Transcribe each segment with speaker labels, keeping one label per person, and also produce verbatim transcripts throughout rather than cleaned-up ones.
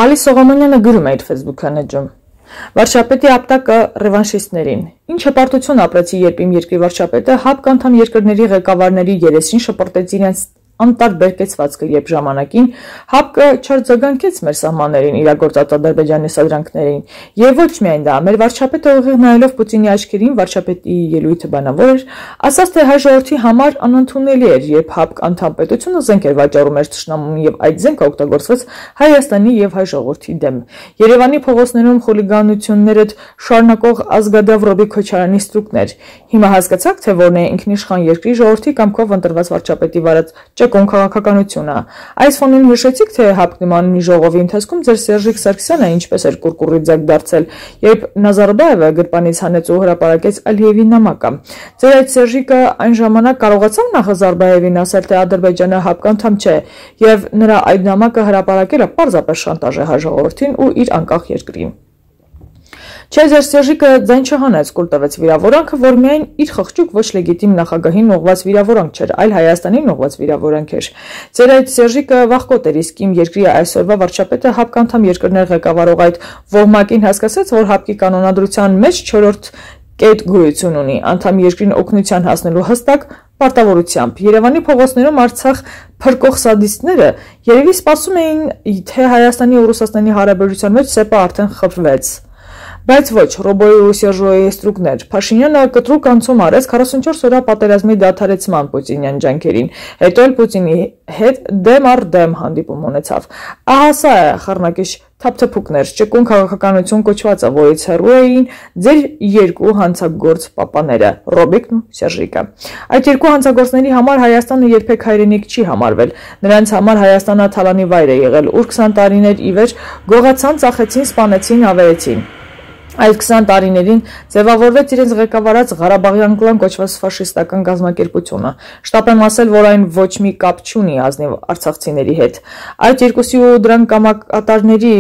Speaker 1: Ալի Սողոմոնյանը գրում է իր Facebook-յան էջում. Վարչապետի ապտակը ռևանշիստներին։ Ինչ հպարտություն ապրեցի, երբ իմ երկրի վարչապետը ՀԱՊԿ անդամ երկրների ղեկավարների երեսին շպրտեց իրենց անտարբեր կեցվածքը, երբ ժամանակին ՀԱՊԿ չարձագանքեց մեր սահմաններին իրագործած Ադրբեջանի սադրանքներին, եւ ոչ միայն դա, մեր վարչապետը ուղիղ նայելով Պուտինի աչքերին, վարչապետի ելույթը բանավոր էր, ասաց, թե հայ ժողովրդի համար անընդունելի էր, երբ ՀԱՊԿ անդամ պետությունը զենք էր վաճառում մեր թշնամուն եւ այդ զենքը օգտագործվեց Հայաստանի եւ հայ ժողովրդի դեմ։ Երևանի փողոցներում խուլիգանությունները շարունակող ազգադավ Ռոբիկ Քոչարյանի ստրուկներ։ Հիմա հասկացաք, թե որն է ինքնիշխան երկրի ժողովրդի կամքով ընտրված վարչապետի վարած ճկուն քաղաքականությունը։ Այս ֆոնին հիշեցիք, թե ՀԱՊԿ նմանունի ժողովի ընթացքում ձեր Սերժիկ Սարգսյանը ինչպես էր կուրկուրի ձակ դարձել, երբ Նազարբաևը գրպանից հանեց ու հրապարակեց Ալիևի նամակը։ Ձեր այդ Սերժիկը այն ժամանակ կարողացավ Նազարբաևին ասել, թե Ադրբեջանը ՀԱՊԿ անդամ չէ, եւ նրա այդ նամակը հրապարակելը պարզապես շանտաժ է հայ ժողովրդին ու իր անկախ երկրին։ Չէ, ձեր Սերժիկը ձայն չհանեց, կուլ տվեց վիրավորանքը, որ միայն իր խղճուկ ոչ լեգիտիմ նախագահին ուղղված վիրավորանք չէր, այլ Հայաստանին ուղղված վիրավորանք էր։ Ձեր այդ Սերժիկը վախկոտ էր, իսկ իմ երկրի այսօրվա վարչապետը ՀԱՊԿ անդամ երկրներ ղեկավարող այդ ոհմակին հասկացեց, որ ՀԱՊԿ-ի կանոնադրության մեջ չորրորդ կետ գոյություն ունի, անդամ երկրին օգնության հասնելու հստակ պարտավորությամբ։ Երևանի փողոցներում Արցախ փրկող սադիստները երևի սպասում էին, թե Հայաստանի ու Ռուսաստանի հարաբերության մեջ սեպը արդեն խփվեց։ Բայց ոչ, Ռոբոյի ու Սերժոյի ստրուկներ, Փաշինյանը կտրուկ անցում արեց քառասունչորս օրյա պատերազմի դադարեցման պուտինյան ջանքերին, հետո էլ Պուտինի հետ դեմ առ դեմ հանդիպում ունեցավ։ Ահա սա է խառնակիչ թափթփուկներ, ճկուն քաղաքականություն կոչվածը, որից հեռու էին ձեր երկու հանցագործ պապաները՝ Ռոբիկն ու Սերժիկը։ Այդ երկու հանցագործների համար Հայաստանը երբեք հայրենիք չի համարվել, նրանց համար Հայաստանը թալանի վայր է եղել, ուր քսան տարիներ ի վեր գողացան, ծախեցին, սպանեցին, ավերեցին։ Այդ քսան տարիներին ձևավորվեց իրենց ղեկավարած Ղարաբաղյան կլան կոչված ֆաշիստական գազམ་ակերպությունը։ Շտապ եմ ասել, որ այն ոչ մի կապ չունի ազնիվ արցախցիների հետ։ Այդ երկուսի ու դրան կամակատարների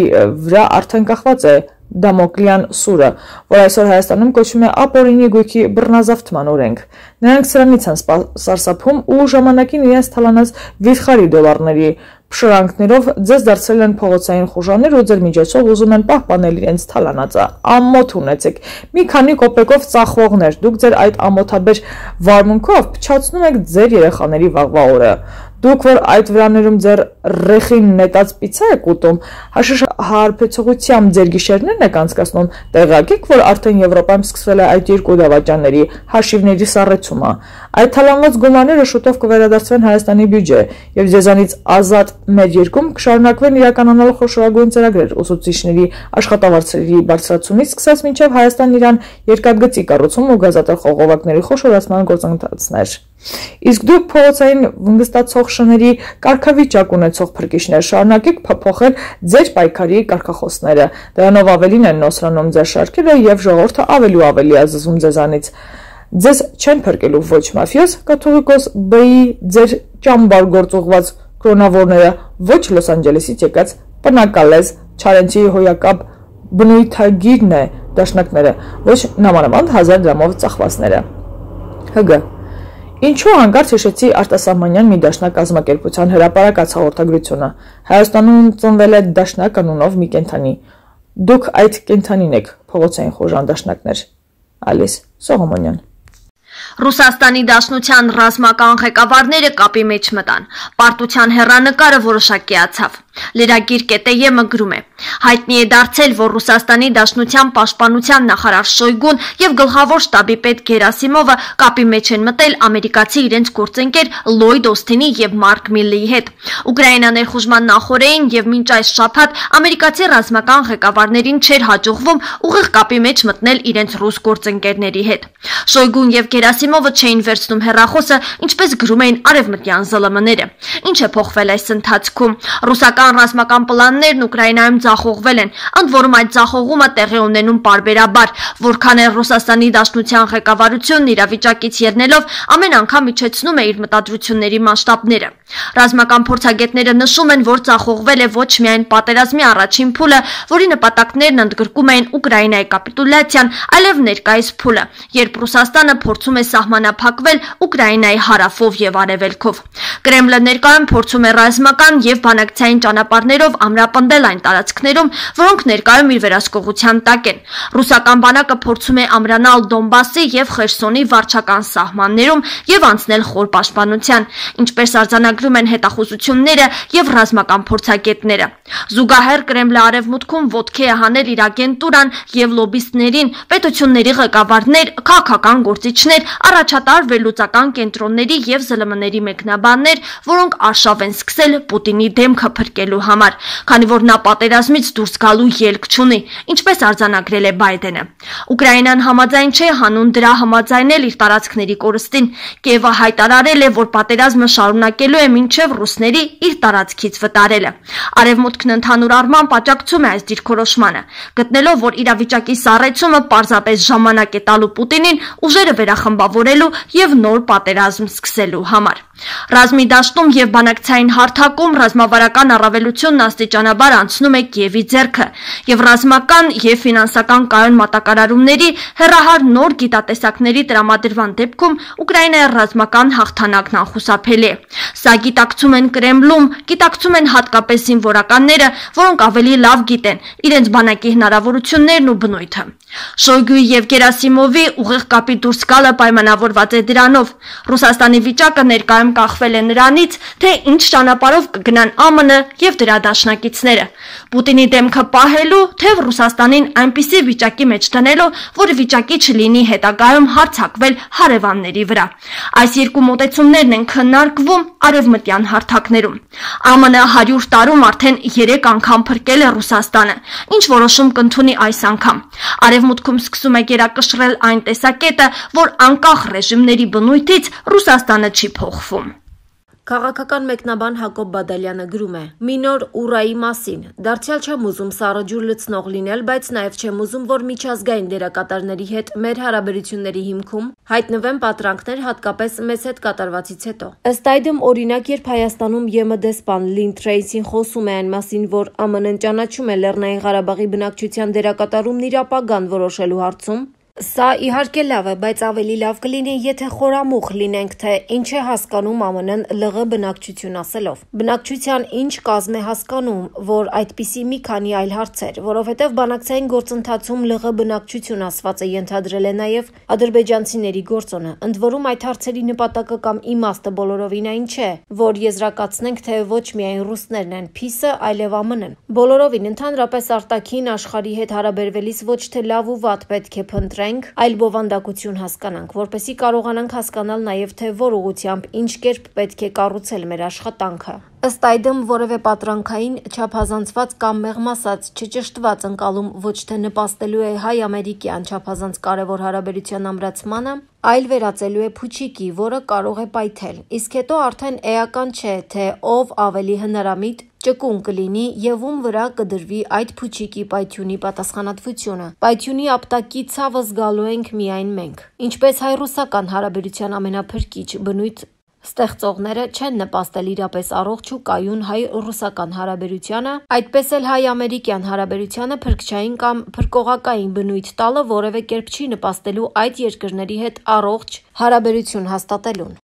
Speaker 1: վրա արդեն կախված է Դամոկլյան սուրը, որ այսօր Հայաստանում կոչվում է ապօրինի գույքի բռնազավթման օրենք։ Նրանք սրանից են սարսափում ու ժամանակին իրենց թալանած վիթխարի դոլարների փշրանքներով ձեզ դարձրել են փողոցային խուժաններ ու ձեր միջոցով ուզում են պահպանել իրենց թալանածը։ Ամոթ ունեցեք, մի քանի կոպեկով ծախողներ, դուք ձեր այդ ամոթաբեր վարմունքով փչացնում եք ձեր երեխաների վաղվա օրը։ Դուք որ այդ վրաներում ձեր ռեխին նետած պիցա եք ուտում, հաշիշ հարբեցողությամբ ձեր գիշերներն եք անցկացնում, տեղյակ եք, որ արդեն Եվրոպայում սկսվել է այդ երկու դավաճանների հաշիվների սառեցումը։ Այդ թալանված գումարները շուտով կվերադարձվեն Հայաստանի բյուջե, եւ ձեզանից ազատ մեր երկրում կշարունակվեն իրականանալու խոշորագույն ծրագրեր ուսուցիչների աշխատավարձերի բարձրացումից սկսած մինչև Հայաստան-Իրան երկաթգծի կառուցում ու գազատար խողովակների խոշորացման գործընթացներ։ Իսկ դուք փողոցային վնգստացող շների կարգավիճակ ունեցող փրկիչներ շարունակեք փոփոխել ձեր պայքարի կարգախոսները։ Դրանով ավելին են նոսրանում ձեր շարքերը եւ ժողովուրդը ավելի ու ավելի ազզում ձեզանից։ Ձեզ չեն փրկելու ոչ մաֆիոզ կաթողիկոս Բ-ի ձեր ճամբար գործուղված կրոնավորները, ոչ Լոս Անջելեսից եկած պնակալեզ Չարենցի հոյակապ բնույթագիրն է դաշնակները, ոչ նամանավանդ հազար դրամով ծախվածները։ Հգ Ինչու հանկարծ հիշեցի արտասահմանյան մի դաշնակ կազմակերպության հրապարակած հաղորդագրությունը։ Հայաստանում ծնվել է դաշնակ անունով մի կենդանի։ Դուք այդ կենդանին եք, փողոցային խոժան դաշնակներ։ Ալիս Սողոմոնյան։
Speaker 2: Ռուսաստանի Դաշնության ռազմական ղեկավարները կապի մեջ մտան։ Պարտության հեռանկարը որոշակիացավ։ Լրագիր ԿՏԵ-ը գրում է. հայտնի է դարձել, որ Ռուսաստանի Դաշնության պաշտպանության նախարար Շոյգուն եւ գլխավոր շտաբի պետ Գերասիմովը կապի մեջ են մտել ամերիկացի իրենց գործընկեր Լոյդ Օսթինի եւ Մարկ Միլլեի հետ։ Ուկրաինա ներխուժման նախորդին եւ մինչ այս շաբաթ ամերիկացի ռազմական ղեկավարներին չէր հաջողվում ուղիղ կապի մեջ մտնել իրենց ռուս գործընկերների հետ։ Շոյգուն եւ Գերասիմովը չէին վերցնում հեռախոսը, ինչպես գրում էին արևմտյան ԶԼՄ-ները։ Ինչ է փոխվել այս ընթացքում։ Ռուսական ռազմական պլաններն Ուկրաինայում ձախողվել են, ընդ որում այդ ձախողումը տեղի ունենում պարբերաբար, որքան էլ Ռուսաստանի Դաշնության ղեկավարությունն իրավիճակից ելնելով ամեն անգամ իջեցնում է իր մտադրությունների մասշտաբները։ Ռազմական փորձագետները նշում են, որ ձախողվել է ոչ միայն պատերազմի առաջին փուլը, որի նպատակներն ընդգրկում էին Ուկրաինայի կապիտուլյացիան, այլև ներկայիս փուլը, երբ Ռուսաստանը փորձում է սահմանափակվել Ուկրաինայի հարավով եւ արևելքով։ Կրեմլը ներկայում փորձում է ռազմական եւ բանակցային ճանապարհներով ամրապնդել այն տարածքներում, որոնք ներկայում իր վերահսկողության տակ են։ Ռուսական բանակը փորձում է ամրանալ Դոնբասի եւ Խերսոնի վարչական սահմաններում եւ անցնել խոր պաշտպանության, ինչպես արձանագրում են հետախուզությունները եւ ռազմական փորձագետները։ Զուգահեռ Կրեմլը արևմուտքում ոտքի է հանել իր ագենտուրան եւ լոբիստներին, պետությունների ղեկավարներ, քաղաքական գործիչներ, առաջատար վերլուծական կենտրոնների եւ զլ եմ ների մեկնաբաններ, որոնք արշավ են սկսել Պուտինի դեմքը փրկելու համար, քանի որ նա պատերազմից դուրս գալու ելք չունի, ինչպես արձանագրել է Բայդենը։ Ուկրաինան համաձայն չէ հանուն դրա համաձայնել իր տարածքների կորստին։ Կիևը հայտարարել է, որ պատերազմը շարունակելու է մինչև ռուսների իր տարածքից վտարելը։ Արևմուտքն ընդհանուր առմամբ աջակցում է այս դիրքորոշմանը, գտնելով, որ իրավիճակի սառեցումը պարզապես ժամանակ է տալու Պուտինին ուժերը վերախմբավորելու եւ նոր պատերազմ սկսելու համար։ Ռազմի դաշտում եւ բանակցային հարթակում ռազմավարական առավելությունն աստիճանաբար անցնում է Կիևի ձեռքը եւ ռազմական եւ ֆինանսական կայուն մատակարարումների հերահար նոր գիտատեսակների տրամադրման դեպքում Ուկրաինայի ռազմական հաղթանակն անխուսափելի է։ Սա գիտակցում են Կրեմլում, գիտակցում են հատկապես զինվորականները, որոնք ավելի լավ գիտեն իրենց բանակի հնարավորություններն ու բնույթը։ Շոյգուի եւ Գերասիմովի ուղիղ կապի դուրս գալը պայմանավորված է դրանով։ Ռուսաստանի վիճակը ներկայում կախվել է նրանից, թե ինչ ճանապարհով կգնան ԱՄՆ եւ դրա դաշնակիցները։ Պուտինի դեմքը պահելու, թե Ռուսաստանին այնպիսի վիճակի մեջ դնելու, որ վիճակի չլինի հետագայում հարձակվել հարևանների վրա։ Այս երկու մոտեցումներն են քննարկվում արևմտյան հարթակներում։ ԱՄՆ հարյուր տարում արդեն երեք անգամ փրկել է Ռուսաստանը, ինչ որոշում կընդունի այս անգամ։ Արևմուտքում սկսում է գերակշռել այն տեսակետը, որ անկախ ռեժիմների բնույթից Ռուսաստանը չի փոխվում։
Speaker 3: Քաղաքական մեկնաբան Հակոբ Բադալյանը գրում է. «Մի նոր ուռայի մասին։ Դարձյալ չեմ ուզում սառը ջուր լցնող լինել, բայց նաև չեմ ուզում, որ միջազգային դերակատարների հետ մեր հարաբերությունների հիմքում հայտնվեն պատրանքներ, հատկապես մեզ հետ կատարվածից հետո։ Ըստ այդմ, օրինակ, երբ Հայաստանում ԵՄԴ դեսպան Լին Թրեյսին խոսում է այն մասին, որ ԱՄՆ-ն ճանաչում է Լեռնային Ղարաբաղի բնակչության դերակատարումն իր ապագան որոշելու հարցում, սա իհարկե լավ է, բայց ավելի լավ կլինի, եթե խորամուխ լինենք, թե ինչ է հասկանում ԱՄՆ-ն ԼՂ բնակչություն ասելով։ Բնակչության ինչ կազմ է հասկանում, որ այդպիսի մի քանի այլ հարցեր, որովհետև բանակցային գործընթացում ԼՂ բնակչություն ասվածը ենթադրել է նաև ադրբեջանցիների գործոնը։ Ընդ որում այդ հարցերի նպատակը կամ իմաստը բոլորովին այն չէ, որ եզրակացնենք, թե ոչ միայն ռուսներն են փիսը, այլև ԱՄՆ-ն։ Բոլորովին ընդհանրապես արտաքին աշխարհի հետ հարաբերվելիս ոչ թե լավ ու վատ պետք է փնտրենք, այլ բովանդակություն հասկանանք, որպեսզի կարողանանք հասկանալ նաև թե որ ուղղությամբ ինչ կերպ պետք է կառուցել մեր աշխատանքը։ Ըստ այդմ որևէ պատրանքային, չափազանցված կամ մեղմ ասած չճշտված ընկալում ոչ թե նպաստելու է հայ-ամերիկյան չափազանց կարևոր հարաբերության ամրացմանը, այլ վերածելու է փուչիկի, որը կարող է պայթել։ Իսկ հետո արդեն էական չէ, թե ով ավելի հնարամիտ ճկուն կլինի եւ ում վրա կդրվի այդ փուչիկի պայթյունի պատասխանատվությունը։ Պայթյունի ապտակի ցավը զգալու ենք միայն մենք։ Ինչպես հայ-ռուսական հարաբերության ամենափրկիչ բնույթ ստեղծողները չեն նպաստել իրապես առողջ ու կայուն հայ-ռուսական հարաբերությանը, այդպես էլ հայ-ամերիկյան հարաբերությանը փրկչային կամ փրկողակային բնույթ տալը որևէ կերպ չի նպաստելու այդ երկրների հետ առողջ հարաբերություն հաստատելուն։